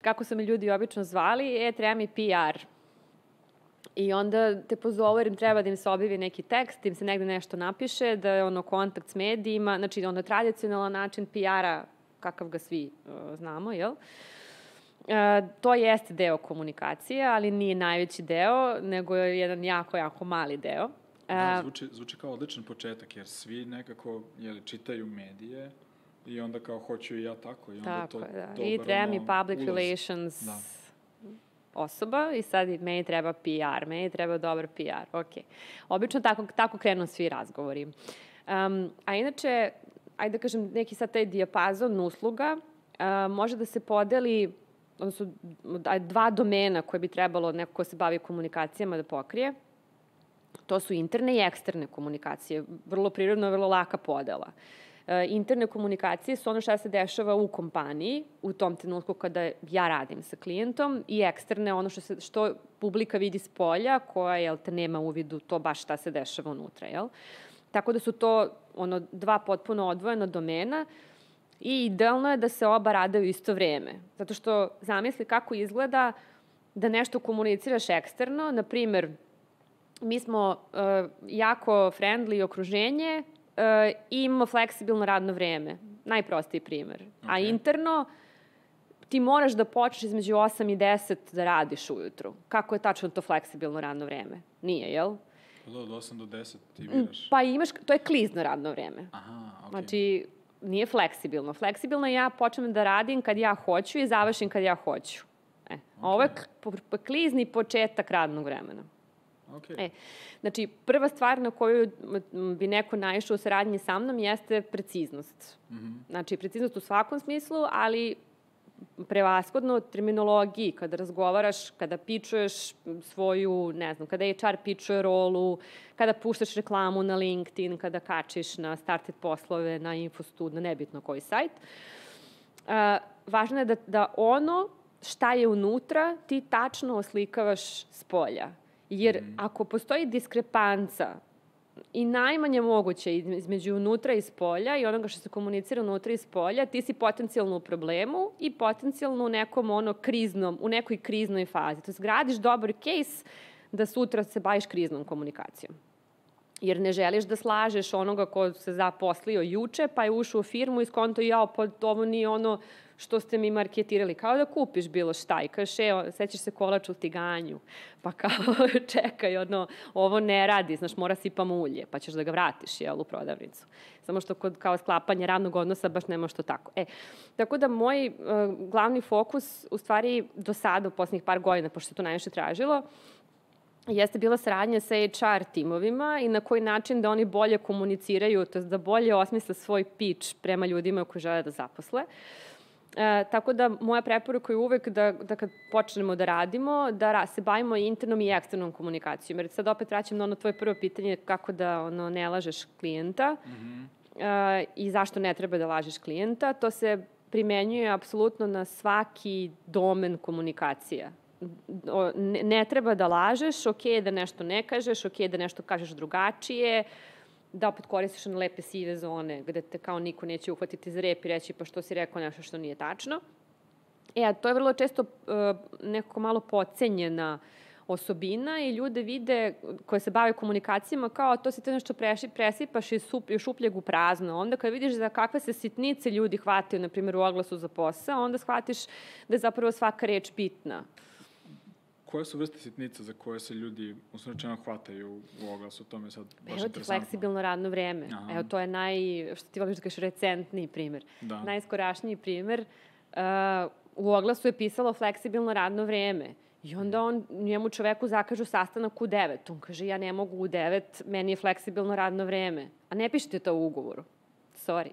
kako su me ljudi obično zvali, treba mi PR. I onda te pozovu jer im treba da im se objavi neki tekst, da im se negde nešto napiše, da je kontakt s medijima, znači tradicionalan način PR-a, kakav ga svi znamo, jel? To jeste deo komunikacije, ali nije najveći deo, nego je jedan jako, jako mali deo. Da, zvuči kao odličan početak, jer svi nekako čitaju medije i onda kao hoću i ja tako. I onda tako, da. I treba mi public relations osoba i sad meni treba PR, meni treba dobar PR, ok. Obično tako krenu svi razgovori. A inače, ajde da kažem, neki sad taj dijapazon usluga može da se podeli, odnosno dva domena koje bi trebalo neko ko se bavi komunikacijama da pokrije. To su interne i eksterne komunikacije. Vrlo prirodno, vrlo laka podela. Interne komunikacije su ono što se dešava u kompaniji, u tom trenutku kada ja radim sa klijentom, i eksterne ono što publika vidi s polja, koja nema uvidu to baš šta se dešava unutra. Jel? Tako da su to dva potpuno odvojena domena i idealno je da se oba rade u isto vreme. Zato što zamisli kako izgleda da nešto komuniciraš eksterno, na primer, mi smo jako friendly okruženje i imamo fleksibilno radno vreme. Najprostiji primer. Okay. A interno ti moraš da počneš između 8 i 10 da radiš ujutru. Kako je tačno to fleksibilno radno vreme? Nije, jel? Od 8 do 10 ti biraš? Pa imaš, to je klizno radno vreme. Aha, okej. Znači, nije fleksibilno. Fleksibilno ja počnem da radim kad ja hoću i završim kad ja hoću. Okay. Ovo je klizni početak radnog vremena. Okay. Znači, prva stvar na koju bi neko naišao u saradnji sa mnom jeste preciznost. Znači, preciznost u svakom smislu, ali prevashodno terminologiji, kada razgovaraš, kada pičuješ svoju, ne znam, kada HR pičuje rolu, kada puštaš reklamu na LinkedIn, kada kačiš na Started poslove, na Infostud, na nebitno koji sajt. Važno je da ono šta je unutra ti tačno oslikavaš s polja. Jer ako postoji diskrepanca i najmanje moguće između unutra i spolja i onoga što se komunicira unutra i spolja, ti si potencijalno u problemu i potencijalno u nekom u nekoj kriznoj fazi. To je gradiš dobar case da sutra se baviš kriznom komunikacijom. Jer ne želiš da slažeš onoga ko se zaposlio juče, pa je ušao u firmu i skonto ovo nije ono što ste mi marketirali. Kao da kupiš bilo šta i kažeš, sećaš se kolač u tiganju, pa kao čekaj, ovo ne radi, znaš, mora sipam ulje, pa ćeš da ga vratiš, u prodavnicu. Samo što kod kao sklapanja radnog odnosa baš nema što tako. Tako da moj glavni fokus, u stvari do sada, u poslednjih par godina, pošto se to najviše tražilo, jeste bila saradnja sa HR timovima i na koji način da oni bolje komuniciraju, to je da bolje osmisle svoj pitch prema ljudima koji žele da zaposle. Tako da moja preporuka je uvek da kad počnemo da radimo, da se bavimo internom i eksternom komunikacijom. Jer sad opet vraćam na ono tvoje prvo pitanje kako da ne lažeš klijenta i zašto ne treba da lažeš klijenta. To se primenjuje apsolutno na svaki domen komunikacija. Ne treba da lažeš, ok da nešto ne kažeš, ok da nešto kažeš drugačije, da opet koristiš one lepe sive zone gde te kao niko neće uhvatiti za rep i reći pa što si rekao nešto što nije tačno. A to je vrlo često nekako malo podcenjena osobina i ljude vide koje se bave komunikacijama kao to si te nešto presipaš iz šupljeg u prazno. Onda kad vidiš za kakve se sitnice ljudi hvataju, na primjer u oglasu za posao, onda shvatiš da je zapravo svaka reč bitna. Koje su vrste sitnica za koje se ljudi usrećeno hvataju u oglasu? To mi je sad baš interesantno. Fleksibilno radno vreme. Evo, to je što ti voliš da kažeš, recentniji primer. Da. Najskorašniji primer. U oglasu je pisalo fleksibilno radno vreme. I onda njemu čoveku zakažu sastanak u 9. On kaže, ja ne mogu u 9, meni je fleksibilno radno vreme. A ne pišete to u ugovoru. Sorry.